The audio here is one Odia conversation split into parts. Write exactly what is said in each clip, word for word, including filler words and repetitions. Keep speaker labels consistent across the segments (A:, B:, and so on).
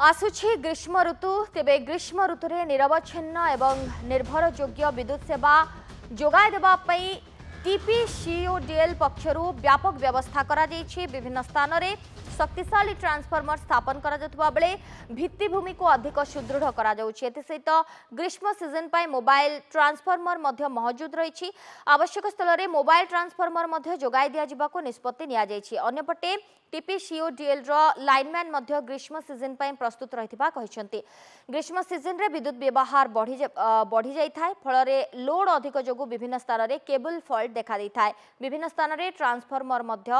A: ଆସୁଛି ଗ୍ରୀଷ୍ମ ଋତୁ। ତେବେ ଗ୍ରୀଷ୍ମ ଋତୁରେ ନିରବଚ୍ଛିନ୍ନ ଏବଂ ନିର୍ଭରଯୋଗ୍ୟ ବିଦ୍ୟୁତ ସେବା ଯୋଗାଇ ଦେବା ପାଇଁ ଟିପିସିଓଡିଏଲ୍ ପକ୍ଷରୁ ବ୍ୟାପକ ବ୍ୟବସ୍ଥା କରାଯାଇଛି। ବିଭିନ୍ନ ସ୍ଥାନରେ ଶକ୍ତିଶାଳୀ ଟ୍ରାନ୍ସଫର୍ମର ସ୍ଥାପନ କରାଯାଉଥିବା ବେଳେ ଭିତ୍ତିଭୂମିକୁ ଅଧିକ ସୁଦୃଢ଼ କରାଯାଉଛି। ଏଥିସହିତ ଗ୍ରୀଷ୍ମ ସିଜନ୍ ପାଇଁ ମୋବାଇଲ ଟ୍ରାନ୍ସଫର୍ମର ମଧ୍ୟ ମହଜୁଦ ରହିଛି। ଆବଶ୍ୟକ ସ୍ଥଳରେ ମୋବାଇଲ ଟ୍ରାନ୍ସଫର୍ମର ମଧ୍ୟ ଯୋଗାଇ ଦିଆଯିବାକୁ ନିଷ୍ପତ୍ତି ନିଆଯାଇଛି। ଅନ୍ୟପଟେ ଟିପିସିଓଡିଏଲ୍ର ଲାଇନମ୍ୟାନ୍ ମଧ୍ୟ ଗ୍ରୀଷ୍ମ ସିଜନ୍ ପାଇଁ ପ୍ରସ୍ତୁତ ରହିଥିବା କହିଛନ୍ତି। ଗ୍ରୀଷ୍ମ ସିଜନ୍ରେ ବିଦ୍ୟୁତ ବ୍ୟବହାର ବଢ଼ି ବଢ଼ିଯାଇଥାଏ। ଫଳରେ ଲୋଡ୍ ଅଧିକ ଯୋଗୁଁ ବିଭିନ୍ନ ସ୍ଥାନରେ କେବୁଲ ଫଲ୍ଟ ଦେଖାଦେଇଥାଏ। ବିଭିନ୍ନ ସ୍ଥାନରେ ଟ୍ରାନ୍ସଫର୍ମର ମଧ୍ୟ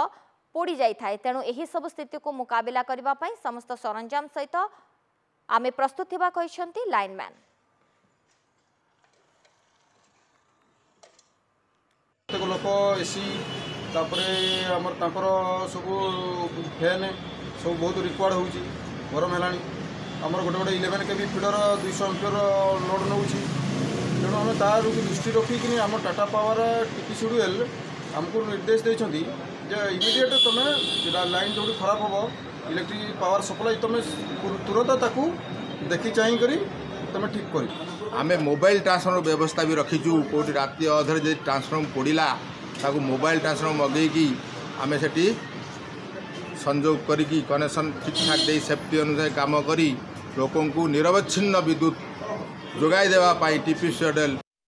A: ପୋଡ଼ି ଯାଇଥାଏ। ତେଣୁ ଏହିସବୁ ସ୍ଥିତିକୁ ମୁକାବିଲା କରିବା ପାଇଁ ସମସ୍ତ ସରଞ୍ଜାମ ସହିତ ଆମେ ପ୍ରସ୍ତୁତ ଥିବା କହିଛନ୍ତି ଲାଇନମ୍ୟାନ୍।
B: ପ୍ରତ୍ୟେକ ଲୋକ ଏସି, ତାପରେ ଆମର ତାଙ୍କର ସବୁ ଫ୍ୟାନ୍ ସବୁ ବହୁତ ରିକ୍ୱାୟାର୍ଡ଼ ହେଉଛି। ଗରମ ହେଲାଣି। ଆମର ଗୋଟେ ଗୋଟେ ଇଲେଭେନ୍ କେ ଭି ଫିଡ଼ର ଦୁଇଶହ ଆମ୍ପିୟର ଲୋଡ଼୍ ନେଉଛି। ତେଣୁ ଆମେ ତାର ଦୃଷ୍ଟି ରଖିକିନି ଆମ ଟାଟା ପାୱାର, ଟିପିସିଡିଏଲ୍ ଆମକୁ ନିର୍ଦ୍ଦେଶ ଦେଇଛନ୍ତି ଯେ ଇମିଡ଼ିଏଟ୍ ତୁମେ ଲାଇନ୍ ଯେଉଁଠି ଖରାପ ହେବ, ଇଲେକ୍ଟ୍ରିକ୍ ପାୱାର ସପ୍ଲାଇ, ତୁମେ ତୁରନ୍ତ ତାକୁ ଦେଖି ଚାହିଁକରି ତୁମେ ଠିକ୍ କରିବ।
C: ଆମେ ମୋବାଇଲ ଟ୍ରାନ୍ସଫର୍ମର ବ୍ୟବସ୍ଥା ବି ରଖିଛୁ। କେଉଁଠି ରାତି ଅଧରେ ଯଦି ଟ୍ରାନ୍ସଫର୍ମର ପୋଡ଼ିଲା, ତାକୁ ମୋବାଇଲ ଟ୍ରାନ୍ସଫର୍ମର ମଗେଇକି ଆମେ ସେଠି ସଂଯୋଗ କରିକି କନେକ୍ସନ୍ ଠିକ୍ଠାକ୍ ଦେଇ, ସେଫ୍ଟି ଅନୁଯାୟୀ କାମ କରି ଲୋକଙ୍କୁ ନିରବଚ୍ଛିନ୍ନ ବିଦ୍ୟୁତ ଯୋଗାଇ ଦେବା ପାଇଁ ଟିପିସିଓଡିଏଲ୍